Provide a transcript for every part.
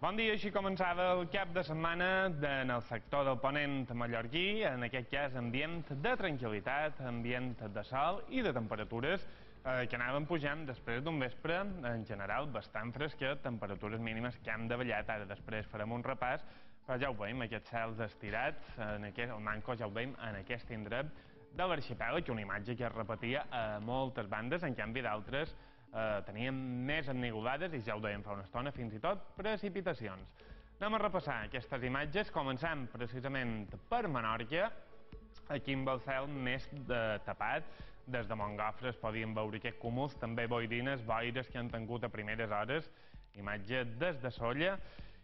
Bon dia, així començava el cap de setmana en el sector del ponent mallorquí, en aquest cas ambient de tranquil·litat, ambient de sol i de temperatures que anaven pujant després d'un vespre, en general, bastant fresquet, temperatures mínimes que hem davallat. Ara després farem un repàs, però ja ho veiem, aquests cels estirats, el manco ja ho veiem en aquest indret de l'arxipèlag, una imatge que es repetia a moltes bandes, en canvi d'altres teníem més ennivolades i ja ho dèiem fa una estona, fins i tot precipitacions. Anem a repassar aquestes imatges, començant precisament per Menorca, aquí amb el cel més tapat. Des de Montgofre es podien veure aquests cúmuls, també boirines, boires que han tingut a primeres hores, imatge des de Sóller.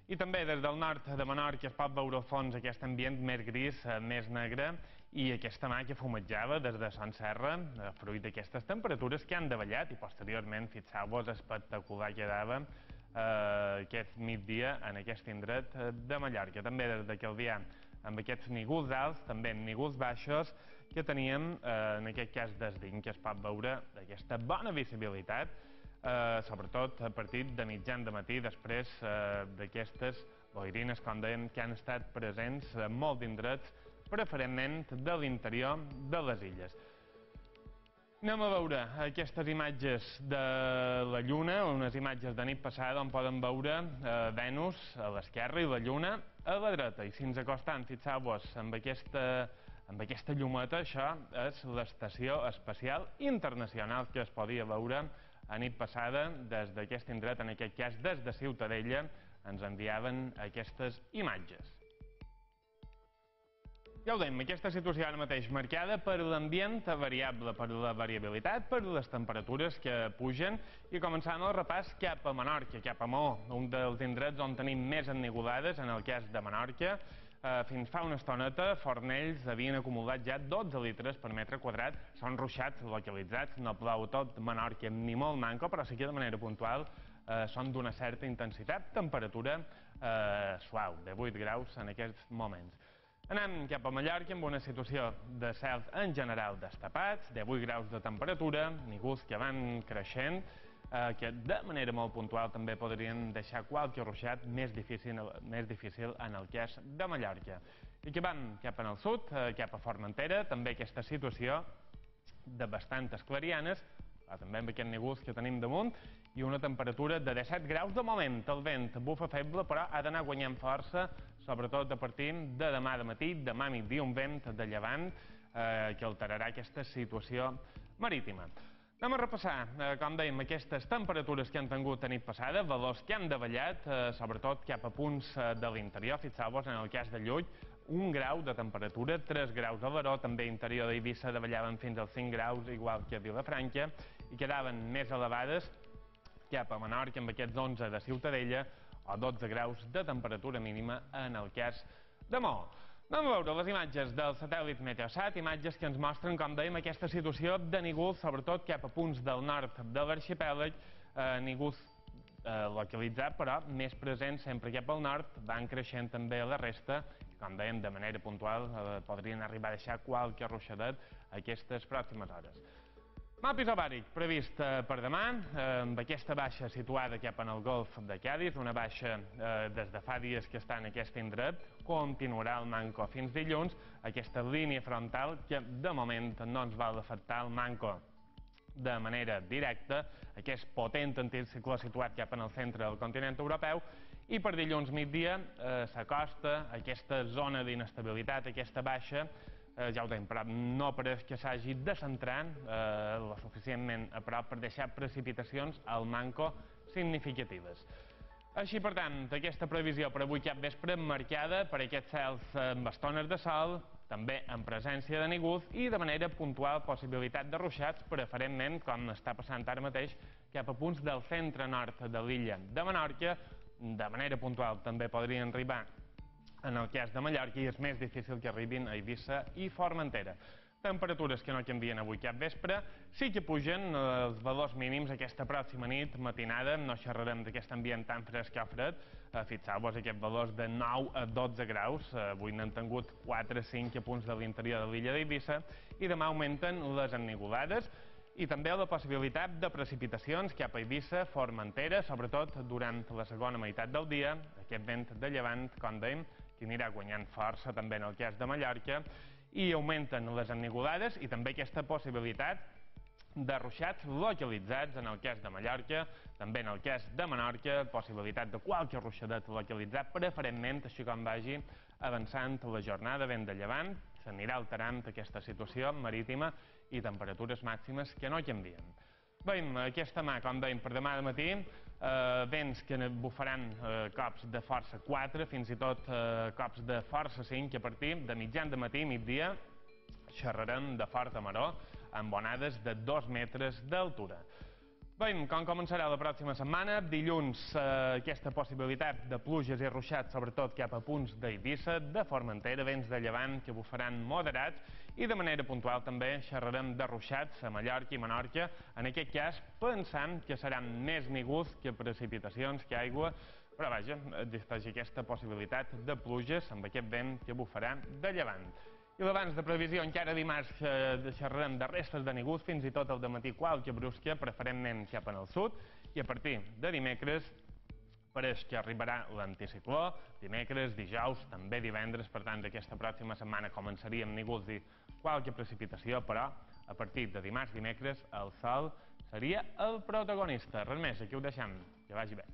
I també des del nord de Menorca es pot veure al fons aquest ambient més gris, més negre, i aquesta mà que fumejava des de Son Serra, fruit d'aquestes temperatures que han davallat, i posteriorment, fixeu-vos, espectacular quedava aquest migdia en aquest indret de Mallorca. També des de Calvià, amb aquests nígols alts, també nígols baixos, que teníem, en aquest cas des d'In, que es pot veure aquesta bona visibilitat, sobretot a partir de mitjan de matí, després d'aquestes boirines, com dèiem, que han estat presents en molts indrets, preferentment de l'interior de les illes. Anem a veure aquestes imatges de la Lluna, unes imatges de nit passada on poden veure Venus a l'esquerra i la Lluna a la dreta. I si ens acostem, fixeu-vos, amb aquesta llumeta, això és l'Estació Espacial Internacional que es podia veure a nit passada des d'aquest indret, en aquest cas des de Ciutadella, ens enviaven aquestes imatges. Ja ho dèiem, aquesta situació ara mateix marcada per l'ambient variable, per la variabilitat, per les temperatures que pugen, i començant el repàs cap a Menorca, cap a Maó, un dels indrets on tenim més ennivolades, en el cas de Menorca. Fins fa una estoneta, Fornells havien acumulat ja 12 litres per metre quadrat. Són ruixats localitzats, no plou tot Menorca ni molt manco, però sí que de manera puntual són d'una certa intensitat. Temperatura suau, de 8 graus en aquests moments. Anem cap a Mallorca amb una situació de cels en general destapats, de 8 graus de temperatura, nígols que van creixent, que de manera molt puntual també podrien deixar qualque ruixat més difícil en el cas de Mallorca. I que van cap al sud, cap a Formentera, també aquesta situació de bastantes clarianes, també amb aquests nígols que tenim damunt, i una temperatura de 17 graus de moment. El vent bufa feble, però ha d'anar guanyant força, sobretot a partir de demà de matí, demà migdia, un vent de llevant que alterarà aquesta situació marítima. Anem a repassar, com dèiem, aquestes temperatures que han tingut a nit passada, valors que han davallat, sobretot cap a punts de l'interior. Fixeu-vos, en el cas de Llull, 1 grau de temperatura, 3 graus a Baró, també interior d'Eivissa davallaven fins als 5 graus, igual que a Vilafranca, i quedaven més elevades cap a Menorca, amb aquests 11 de Ciutadella, o 12 graus de temperatura mínima en el cas de Maó. Anem a veure les imatges del satèl·lit Meteosat, imatges que ens mostren, com dèiem, aquesta situació de nígols, sobretot cap a punts del nord de l'arxipèlag, nígols localitzats, però més presents sempre cap al nord, van creixent també a la resta, i com dèiem, de manera puntual podrien arribar a deixar qualque ruixadet aquestes pròximes hores. Mapa isobàric previst per demà, amb aquesta baixa situada cap en el golf de Càdiz, una baixa des de fa dies que està en aquest indret, continuarà el manco fins dilluns, aquesta línia frontal que de moment no ens va afectar el manco de manera directa, aquest potent anticicló situat cap en el centre del continent europeu, i per dilluns migdia s'acosta aquesta zona d'inestabilitat, aquesta baixa, ja ho tenim, però no pareix que s'hagi de centrar lo suficientment a prop per deixar precipitacions al manco significatives. Així, per tant, aquesta previsió per avui cap vespre marcada per aquests cels amb estones de sol, també en presència de nígols i de manera puntual possibilitat de ruixats, preferentment, com està passant ara mateix, cap a punts del centre-nord de l'illa de Menorca. De manera puntual també podrien arribar en el cas de Mallorca, i és més difícil que arribin a Eivissa i Formentera. Temperatures que no canvien avui cap vespre, sí que pugen els valors mínims aquesta pròxima nit, matinada, no xerrarem d'aquest ambient tan fresc o fred, fixeu-vos aquests valors de 9 a 12 graus, avui n'han tingut 4 a 5 a punts de l'interior de l'illa d'Eivissa, i demà augmenten les ennivolades, i també la possibilitat de precipitacions cap a Eivissa, Formentera, sobretot durant la segona meitat del dia, aquest vent de llevant, com dèiem, que anirà guanyant força també en el cas de Mallorca, i augmenten les ennuvolades i també aquesta possibilitat de ruixats localitzats en el cas de Mallorca, també en el cas de Menorca, possibilitat de qualque ruixadet localitzat, preferentment, així com vagi avançant la jornada, vent de llevant, s'anirà alterant aquesta situació marítima i temperatures màximes que no canvien. Veiem aquesta mà, com dèiem, per demà de matí, vents que bufaran cops de força 4, fins i tot cops de força 5, que a partir de mitjan de matí i migdia xerrarem de forta maró, amb onades de 2 metres d'altura. Veiem com començarà la pròxima setmana. Dilluns, aquesta possibilitat de pluges i ruixats, sobretot cap a punts d'Eivissa, de Formentera, vents de llevant que bufaran moderats, i de manera puntual també xerrarem de ruixats a Mallorca i Menorca, en aquest cas pensant que seran més nígols que precipitacions, que aigua, però vaja, existeix aquesta possibilitat de pluges amb aquest vent que bufarà de llevant. I l'abans de previsió, encara dimarts xerrarem de restes de nígols, fins i tot al dematí qualque brusca, preferentment cap en el sud, i a partir de dimecres pareix que arribarà l'anticicló, dimecres, dijous, també divendres, per tant, aquesta pròxima setmana començaríem nígols i qualque precipitació, però a partir de dimarts, dimecres, el sol seria el protagonista. Res més, aquí ho deixem. Que vagi bé.